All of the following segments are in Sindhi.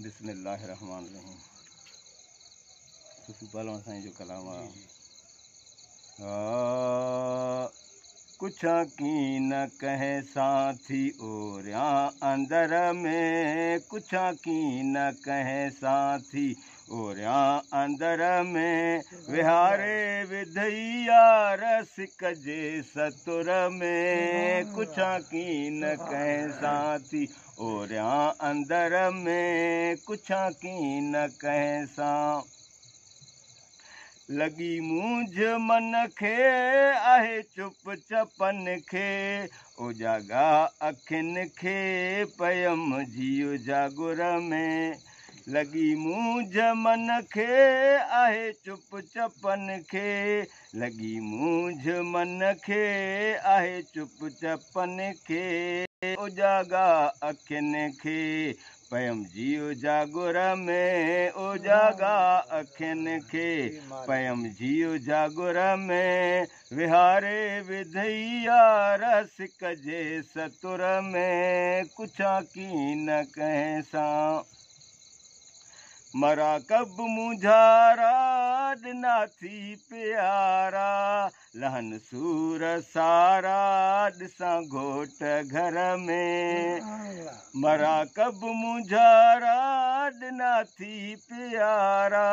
بسم الله الرحمن الرحيم صوفي پهلوان سائين جو ڪلام آ ڪڇان ڪين ڪنهن سان ٿي اوريان اندر ۾ ڪڇان ڪين ڪنهن سان ٿي اوريان اندر ۾ ويهاري وڌئي يار سڪ جي ستر ۾ ڪڇان ڪين ڪنهن سان ٿي اوريان اندر ۾ ڪڇان ڪين ڪنهن سان لڳي مونجهه من کي آهي چپ چپن کي اوجاڳا اکين کي پيم جيءُ جاگر ۾ لڳي مونجهه من کي آهي چپ چپن کي لڳي مونجهه من کي آهي چپ چپن کي اوجاڳا اکين کي پيم جيءُ جاگر ۾ اوجاڳا اکين کي پيم جيءُ جاگر ۾ ويهاري وڌئي يار سڪ جي ستر ۾ ڪڇان ڪين ڪنهن سان مراقب مونجهارا ڏنا ٿي پيارا لهن سور سارا ڏسان گهوٽ گهر ۾ مراقب مونجهارا ڏنا ٿي پيارا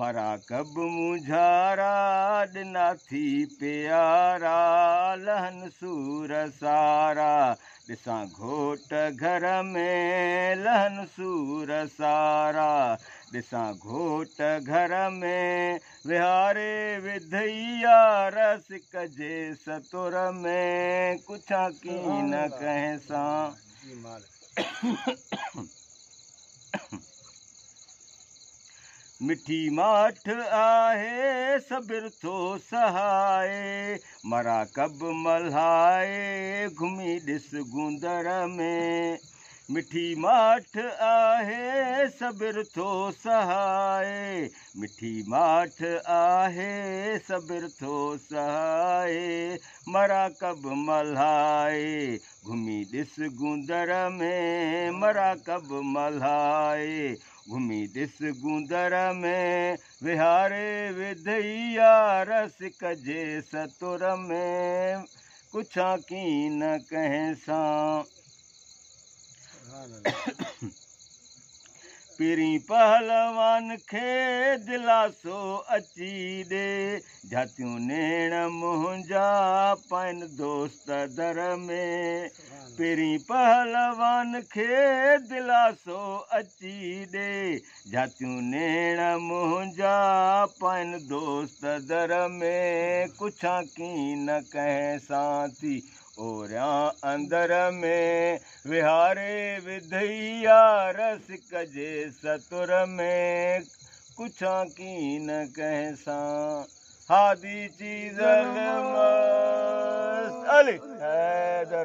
مراقب مونجهارا ڏنا ٿي پيارا لهن سور سارا ڏسان گهوٽ گهر ۾ لهن سور سارا ڏسان گهوٽ گهر ۾ ويهاري وڌئي يار سڪ جي ستر ۾ ڪڇان ڪين ڪنهن سان مٺي ماٺ آهي صبر ٿو سهائي مراقب ملهائي گهمي ڏس گوندر ۾ مٺي ماٺ آهي صبر ٿو سهائي مٺي ماٺ آهي صبر ٿو سهائي مراقب ملهائي گهمي ڏس گوندر ۾ مراقب ملهائي گهمي ڏس گوندر ۾ ويهاري وڌئي يار سڪ جي ستر ۾ ڪڇان ڪين ڪنهن سان پرين پهلوان کي دلاسو اچي ڏي جهاتيون نيڻ منهنجا پائن دوست در ۾ پرين پهلوان کي دلاسو اچي ڏي جهاتيون نيڻ منهنجا پائن دوست در ۾ ڪڇان ڪين ڪنهن سان ٿي اوريان اندر ۾ ويهاري وڌئي يار سڪ جي ستر ۾ ڪڇان ڪين ڪنهن سان هادي چيزل مست علي حيدر.